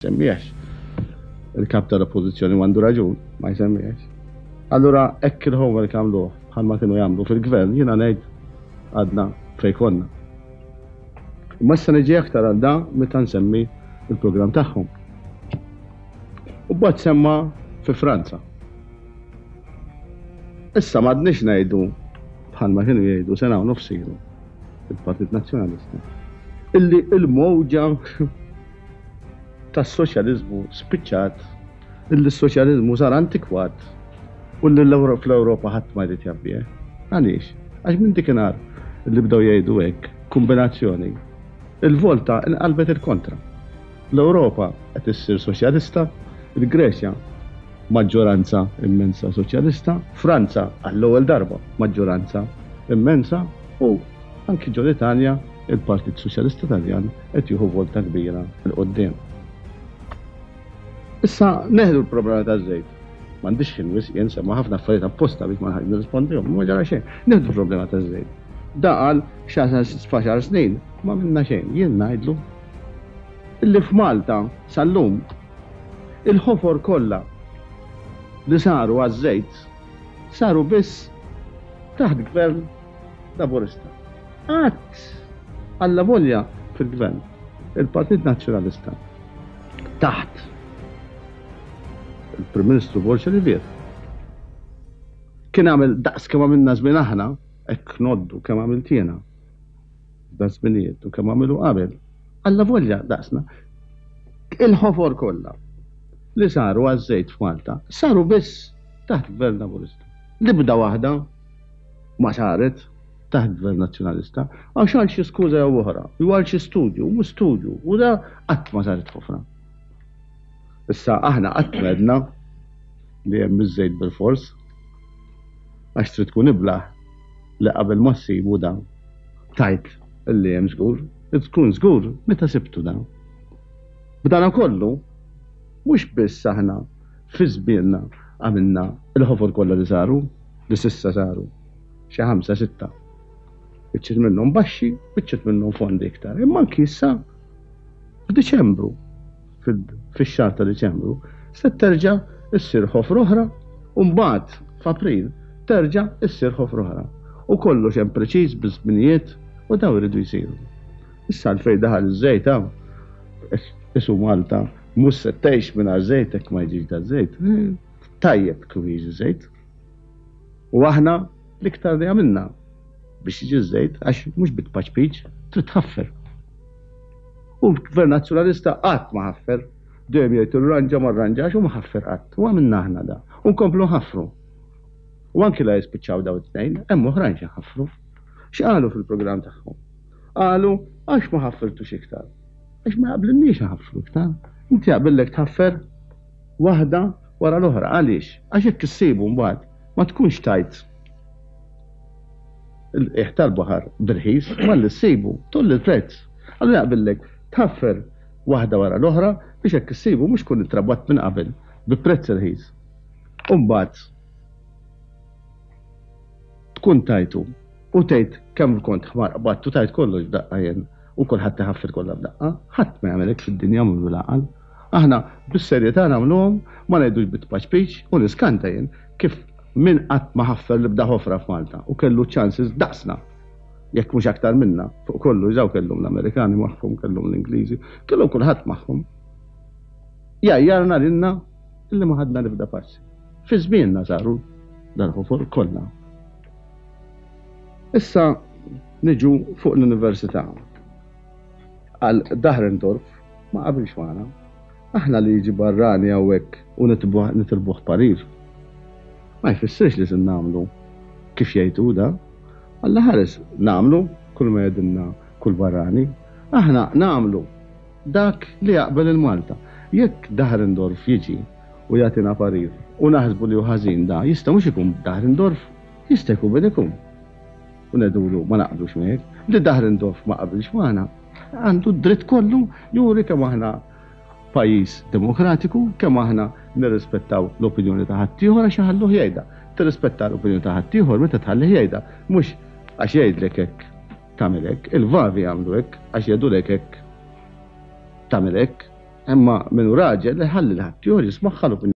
Jsemmihx. Il-kap tal-Oppożizzjoni għandu raġun, ma jsemmihx. Allura hekk il-homework għamluh bħalma kienu jagħmlu fil-gvern, jiena ngħid għadna fejn konna. Imma issa niġi aktar għal da meta nsemmi il-programm tagħhom. U mbagħad semma fi Franza. Issa m'għadniex ngħidu bħalma kienu jgħidu sena u nofs ilu il-Partit Nazzjonalista illi il-mowġa tas-soċjaliżmu spiċċat, illi s-soċjaliżmu sar antikwat u li fl-Ewropa ħadd ma jrid jaf bih. Għaliex? Għax minn dikinhar li bdew jgħidu hekk, kombinazzjoni, il-volta inqalbet il-kontra. L-Ewropa qed issir soċjalista, il-Greċja maġġoranza immensa soċjalista, Franza għall-ewwel darba maġġoranza immensa u anki ġol-Italja il-Partit Soċjalista Taljan qed jieħu volta kbira 'l quddiem. Issa neħdu l-problema taż-żejt. M'għandix ħin wisq jien semma ħafna affarijiet apposta biex ma nħallix nirrispondihom, ma ġara xejn. Neħdu l-problema taż-żejt. Da qal f'għaxar snin ma għamilna xejn. Jien ngħidlu illi f'Malta sal-lum il-ħofor kollha li saru għaż-żejt saru biss taħt gvern Laburista. Qatt, allavolja fil-Gvern, il-Partit Nazzjonalista taħt il-Prim Ministru Borg Olivier kien għamel daqs kemm għamilna żmien aħna, hekk ngħoddu kemm għamilt jiena f'dan żminijiet u kemm għamilu qabel, allavolja daqsna. Il-ħofor kollha li saru għaż-żejt f'Malta saru biss taħt Gvern Laburista. L-ibda waħda ma saret taħt Gvern Nazzjonalista għax għal xi skuża jew oħra, jew għal xi studju, mhux studju, u da qatt ma saret ħofra. Issa aħna qatt m'għedna li hemm iż-żejt bil-fors għax trid tkun iblah li qabel ma ssibu da tajt li hemm żgur, tkun żgur meta sibtu da. B'dana kollu, mhux biss aħna fi żmienna għamilna il-ħofor kollha li saru, li s'issa saru, xi ħamsa sitta. Biċċiet minnhom baxxi, biċċiet minnhom fondi iktar. Imma anki issa f'Diċembru, fix-xahar ta' Diċembru, se terġa' issir ħofra oħra u mbagħad f'April terġa' issir ħofra oħra. U kollox hemm preċiż biż-żminijiet u dawn iridu jsiru. Issa għalfejn daħal iż-żejt hawn, isu Malta mhux se tgħix mingħajr żejt hekk ma jiġix daż-żejt. Tajjeb kieku jiġi żejt. U aħna l-iktar li għamilna biex jiġi żejt għax mhux bit-tpaċpiċ trid tħaffer. U l-Gvern Nazzjonalista qatt ma ħaffer. Dejjem jgħid irranġa ma rranġax u ma ħaffer qatt. U għamilna aħna da. U nkomplu nħaffru. U anki la jispiċċaw daw it-tnejn, hemm oħrajn xi ħaffru. X'qalu fil-programm tagħhom? Qalu għax ma ħaffirtux iktar. Għax ma jaqblilniex nħaffru iktar. Inti jaqbillek tħaffer waħda wara l-oħra. Għaliex? Għax hekk issibu mbagħad ma tkunx tajt il-qiegħ tal-baħar b'irħis, malli ssibu tgħolli l-prezz. Allura jaqbillek tħaffer waħda wara l-oħra biex hekk issibu mhux tkun intrabatt minn qabel bi prezz irħis. U mbagħad tkun tajtu u tgħid kemm kont ħmar qbadt u tajt kollox f'daqqa jien u kulħadd iħaffer kollha f'daqqa. Ħadd ma jagħmel hekk fid-dinja mhu bil-għaqal. Aħna bis-serjetà nagħmluhom, ma ngħidux bit-tpaċpiċ u niskanta jien kif min qatt ma ħaffer l-ebda ħofra f'Malta u kellu ċ-chances daqsna, jekk mhux aktar minna, fuq kollox daw kellhom l-Amerikani magħhom, kellhom l-Ingliżi, kellhom kulħadd magħhom. Jgħajjarna lilna illi ma ħadna l-ebda passi. Fi żmienna saru dal-ħofor kollha. Issa niġu fuq l-università. Għal Dahrendorf ma qabilx magħna. Aħna li jiġi barrani hawnhekk u nitilbuh parir. Ma jfissirx li se nagħmlu kif jgħid hu da. Alla ħares nagħmlu kull ma jgħidilna kull barrani. Aħna nagħmlu dak li jaqbel il-Malta. Jekk Dahrendorf jiġi u jagħtina parir u naħsbu li hu ħażin da, jista' mhux ikun Dahrendorf, jista' jkun min ikun. U ngħidulu ma naqblux miegħek. Li Dahrendorf ma qabilx magħna Għandu d-dritt kollu juri kemm aħna pajjiż demokratiku, kemm aħna nirrispettaw l-opinjoni ta' ħaddieħor għax iħalluh jgħidha. Tirrispetta l-opinjoni ta' ħaddieħor meta tħallih jgħidha, mhux għax jgħidlek hekk tagħmel hekk. Il-vavi jagħmlu hekk għax jgħidulek hekk tagħmel hekk. Imma min hu raġel iħalli 'l ħaddieħor jismagħha l-opinjoni.